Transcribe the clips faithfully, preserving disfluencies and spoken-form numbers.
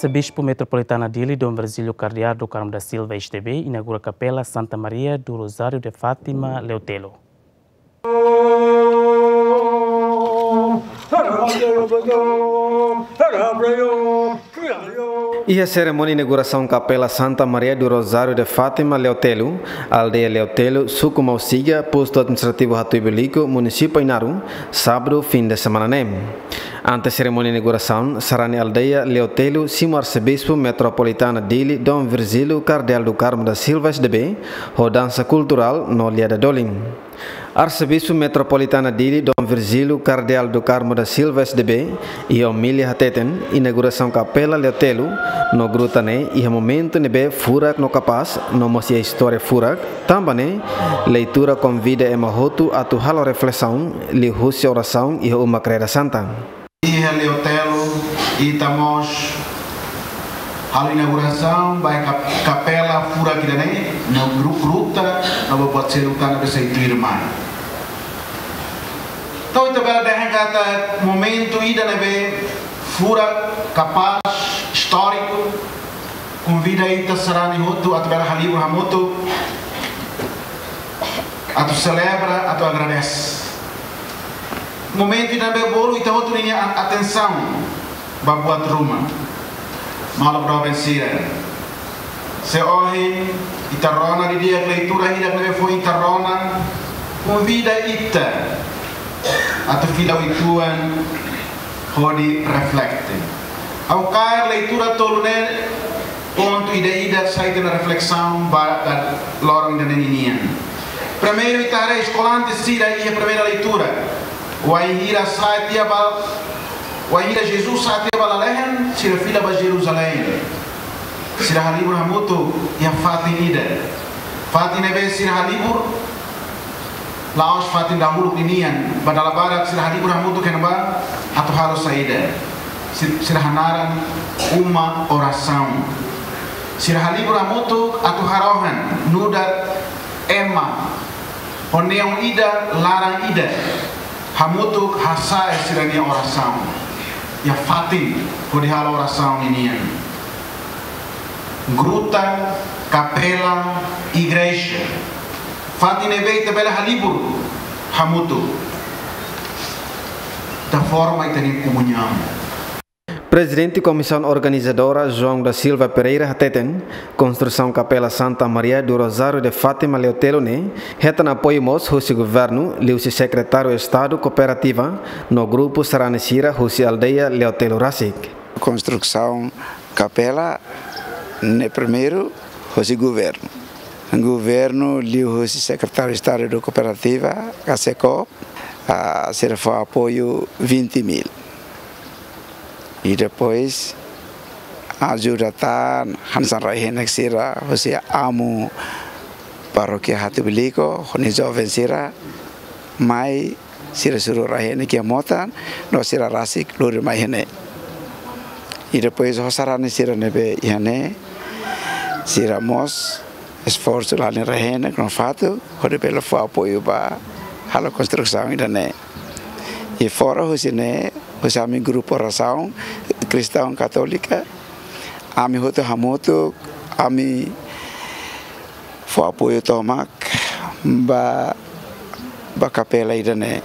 Arsebispu Metropolitana Dili, Dom Virgílio Kardeál do Carmo da Silva, S D B, inaugura Kapela Santa Maria do Rosário de Fátima, Leotelo. Iha serimónia inaugurasaun Kapela Santa Maria do Rosário de Fátima, Leotelo, aldeia Leotelo, suku Mausiga, postu administrativu Hatuibeliko, munisípiu Ainaro, sábadu, fim de semana ne'e. Antes serimónia inaugurasaun, sarani aldeia Leotelo simu Arsebispu Metropolitana Dili, Dom Virgílio Kardeál do Carmo da Silva, S D B, ho dansa kulturál no liaida dolin. Arsebispu Metropolitana Dili, Dom Virgílio Kardeál do Carmo da Silva, S D B, iha omilia hateten, inaugurasaun Kapela Leotelo no gruta ne'e iha momentu ne'ebé furak no kapás, no mós iha istória furak, tanba ne'e, leitura konvida ema hotu atu halo reflesaun, liuhusi orasaun iha uma Kreda Santa. Iha Leotelo, ita mós halo inaugurasaun ba kap-, kapela furak ida-ne'e, no gru-, gruta, no ba buat seluk tan ne'ebé sai tuirmai. Entaun, ita bele dehan katak momentu ida ne'ebé furak, kapás, istóriku, konvida ita sarani hotu atu bele halibur hamutuk, atu selebra, atu agradese. Momentu ida ne'ebé bolu ita hotu ninia a-, atensaun ba buat ruma. Maluk doben sira. Se ohin ita rona didi'ak leitura hirak ne'ebé foin ita rona, konvida ita atu fila uitoan hodi reflete. Ha'u kaer leitura tolu ne'e pontu ida-ida sai tiha ona reflesaun ba, ba loron ida-ne'e ninian. Primeiru, ita haree eskolante sira iha primeira leitura. Wainhira sa'e tiha ba, wainhira Jesus sa'e tiha ba lalehan, sira fila ba Jerusalém. Sira halibur hamutuk iha fatin ida. Fatin ne'ebé sira halibur, la'ós fatin dahuluk ninian, ba dala barak sira halibur hamutuk iha ne'ebá atu halo saida. Si-, sira hanaran uma orasaun. Sira halibur hamutuk atu harohan, nu'udar ema ho neon ida, laran ida, hamutuk hasa'e sira-nia orasaun iha fatin hodi halo orasaun ninian. Gruta, kapela, igreja. Fatin ne'ebé ita bele halibur hamutuk. Ita forma ita-nia komuñaun. Prezidente Komisaun Organizadora, João da Silva Pereira, hateten, konstrusaun Kapela Santa Maria do Rosário de Fátima Leotelo ne'e hetan apoiu mós husi governu, liuhusi Sekretáriu Estadu Kooperativa, no grupu sarani sira husi aldeia Leotelo rasik. Konstrusaun kapela ne'e primeiru husi governu. Governu liuhusi Sekretáriu Estadu do Kooperativa, ka SEKOOP, ah, sira fó apoiu vinte mil. I depois ajuda tan hanesan rai-henek sira, husi amu parókia Hatuibeliko, ho nia joven sira, mai sira suru rai-henek iha mota, no sira rasik lori mai iha ne'e. I depois ho sarani sira ne'ebé iha ne'e, sira mós esforsu la hanesan rai-henek no fatuk, hodi bele fó apoiu ba halo konstrusaun ida-ne'e. I fora husi ne'e, husi ami grupu orasaun Kristaun Katólika, ami hotu hamutuk, ami fó apoiu tomak ba, ba kapela ida-ne'e.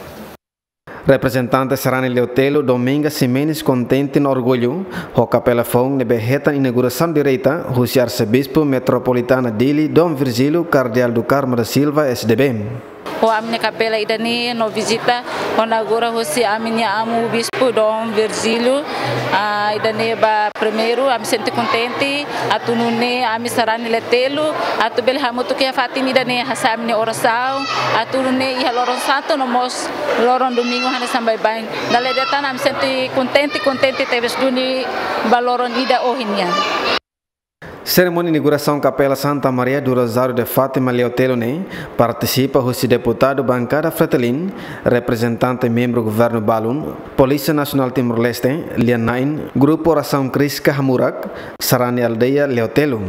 Reprezentante sarani Leotelo, Dominga Ximenes, kontente no orgullu ho kapela foun ne'ebé hetan inaugurasaun direta husi Arsebispu Metropolitana Dili, Dom Virgílio Kardeál do Carmo da Silva, S D B. Ho ami-nia kapela ida-ne'e no vizita ho inaugura husi ami-nia amu bispu Dom Virgílio, ah, ida-ne'e ba primeiru, ami sente kontente, atu nune'e ami sarani Leotelo, atu bele hamutuk iha fatin ida-ne'e hasa'e ami-nia orasaun, atu nune'e iha loron santu no mós loron domingu hanesan baibain. Dala ida tan ami sente kontente, kontente tebes duni ba loron ida ohin nian. Serimónia inaugurasaun Kapela Santa Maria do Rosário de Fátima Leotelo ne'e partisipa husi deputadu bankada Fretilin, reprezentante membru governu balun, Polísia Nasionál Timor-Leste, lia-na'in, Grupu Orasaun Kriska Hamurak, sarani aldeia Leotelo.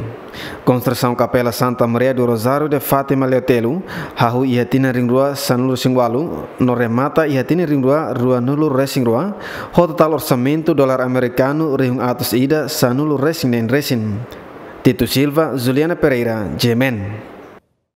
Konstrusaun Kapela Santa Maria do Rosário de Fátima Leotelo hahú iha tinan rihun rua sanulu-resin-ualu no remata iha tinan rihun rua ruanulu-resin-rua, ho totál orsamentu dolar amerikanu rihun atus ida sanulu-resin-neen resin. Tito Silva, Juliana Pereira, G M N.